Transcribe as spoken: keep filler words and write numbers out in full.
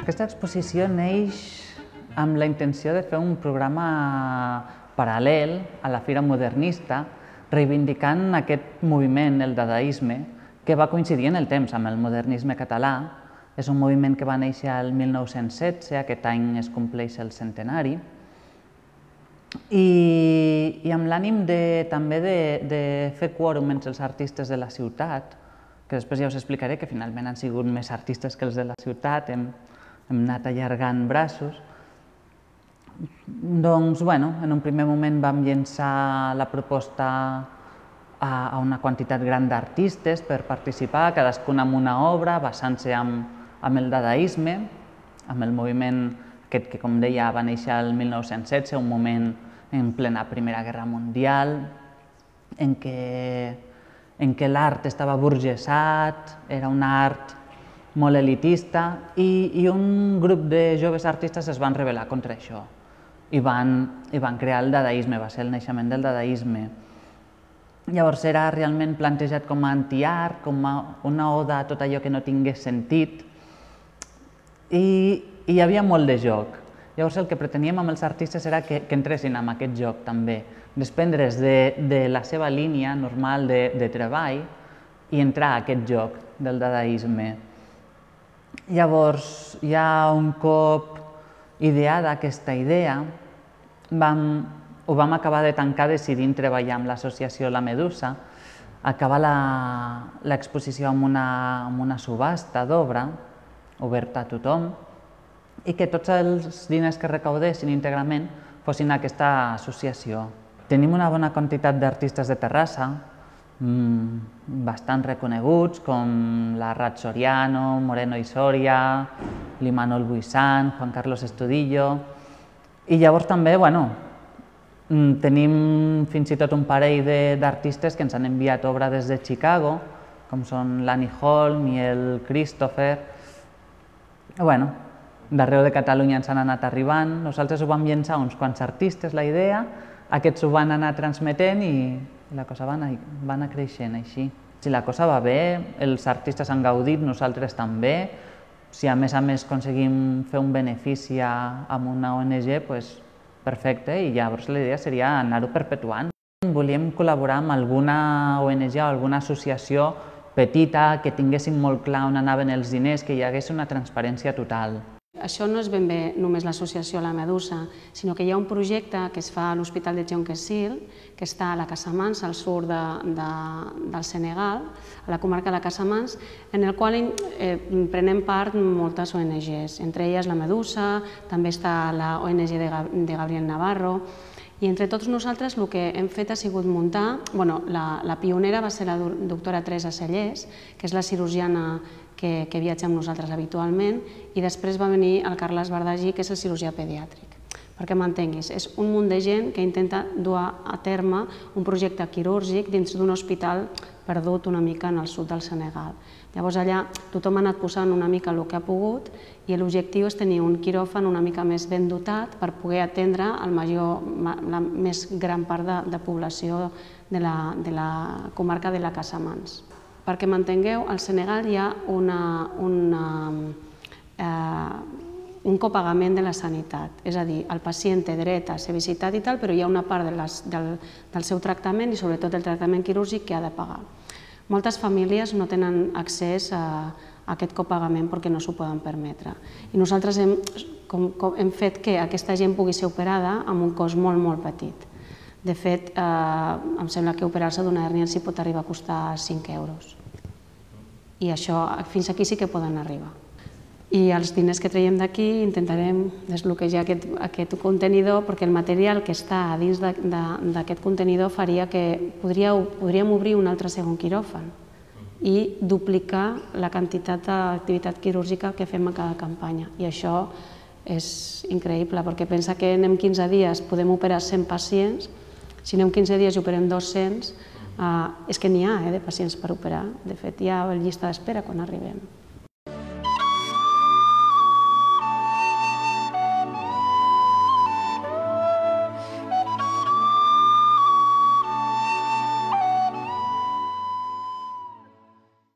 Aquesta exposició neix amb la intenció de fer un programa paral·lel a la Fira Modernista, reivindicant aquest moviment, el dadaisme, que va coincidir en el temps amb el modernisme català. És un moviment que va néixer el mil nou-cents setze, aquest any es compleix el centenari, i, i amb l'ànim també de, de fer quòrum entre els artistes de la ciutat, que després ja us explicaré que finalment han sigut més artistes que els de la ciutat, hem, hem anat allargant braços. Doncs, bueno, en un primer moment vam llençar la proposta a, a una quantitat gran d'artistes per participar, cadascun amb una obra, basant-se amb, amb el dadaisme, amb el moviment aquest que, com deia, va néixer el mil nou-cents setze, un moment en plena Primera Guerra Mundial, en què, en què l'art estava burgesat, era un art molt elitista, i, i un grup de joves artistes es van rebel·lar contra això i van, i van crear el dadaisme, va ser el naixement del dadaisme. Llavors era realment plantejat com a antiart, com a una oda a tot allò que no tingués sentit, i, i hi havia molt de joc. Llavors el que preteníem amb els artistes era que, que entressin en aquest joc també, desprendre's de, de la seva línia normal de, de treball i entrar a aquest joc del dadaisme. Llavors, ja un cop ideada aquesta idea, vam, ho vam acabar de tancar decidint treballar amb l'associació La Medusa, acabar l'exposició amb una, amb una subhasta d'obra, oberta a tothom, i que tots els diners que recaudessin íntegrament fossin a aquesta associació. Tenim una bona quantitat d'artistes de Terrassa, bastant reconeguts, com la Rat Soriano, Moreno i Soria, l'Imanol Buisan, Juan Carlos Estudillo, i llavors també, bueno, tenim fins i tot un parell d'artistes que ens han enviat obra des de Chicago, com són l'Annie Holm i el Christopher. Bueno, d'arreu de Catalunya ens han anat arribant, nosaltres ho vam llençar uns quants artistes, la idea, aquests ho van anar transmetent i la cosa va anar, va anar creixent així. Si la cosa va bé, els artistes han gaudit, nosaltres també. Si a més a més aconseguim fer un benefici amb una O N G, doncs perfecte, i llavors la idea seria anar-ho perpetuant. Volíem col·laborar amb alguna O N G o alguna associació petita, que tinguéssim molt clar on anaven els diners, que hi hagués una transparència total. Això no és ben bé només l'associació La Medusa, sinó que hi ha un projecte que es fa a l'Hospital de Jonquesil, que està a la Casamance, al sud de, de, del Senegal, a la comarca de Casamance, en el qual eh, prenem part moltes O N Ges, entre elles La Medusa, també està la O N G de, de Gabriel Navarro, i entre tots nosaltres el que hem fet ha sigut muntar, bueno, la, la pionera va ser la doctora Teresa Cellers, que és la cirurgiana que, que viatja amb nosaltres habitualment, i després va venir el Carles Bardagí, que és el cirurgià pediàtric. Perquè m'entenguis, és un munt de gent que intenta dur a terme un projecte quirúrgic dins d'un hospital perdut una mica en el sud del Senegal. Llavors allà tothom ha anat posant una mica el que ha pogut i l'objectiu és tenir un quiròfan una mica més ben dotat per poder atendre el major, la més gran part de, de població de la, de la comarca de la Casamance. Perquè m'entengueu, al Senegal hi ha una, una, eh, un copagament de la sanitat, és a dir, el pacient té dret a ser visitat i tal, però hi ha una part de les, del, del seu tractament i sobretot el tractament quirúrgic que ha de pagar. Moltes famílies no tenen accés a, a aquest copagament perquè no s'ho poden permetre. I nosaltres hem, com, com, hem fet que aquesta gent pugui ser operada amb un cost molt, molt petit. De fet, eh, em sembla que operar-se d'una hèrnia els hi pot arribar a costar cinc euros. I això, fins aquí sí que poden arribar. I els diners que traiem d'aquí intentarem desbloquejar aquest, aquest contenidor, perquè el material que està a dins d'aquest contenidor faria que podria, podríem obrir un altre segon quiròfan i duplicar la quantitat d'activitat quirúrgica que fem a cada campanya. I això és increïble, perquè pensa que anem quinze dies, podem operar cent pacients, si anem quinze dies i operem dos-cents, eh, és que n'hi ha eh, de pacients per operar. De fet, hi ha llista d'espera quan arribem.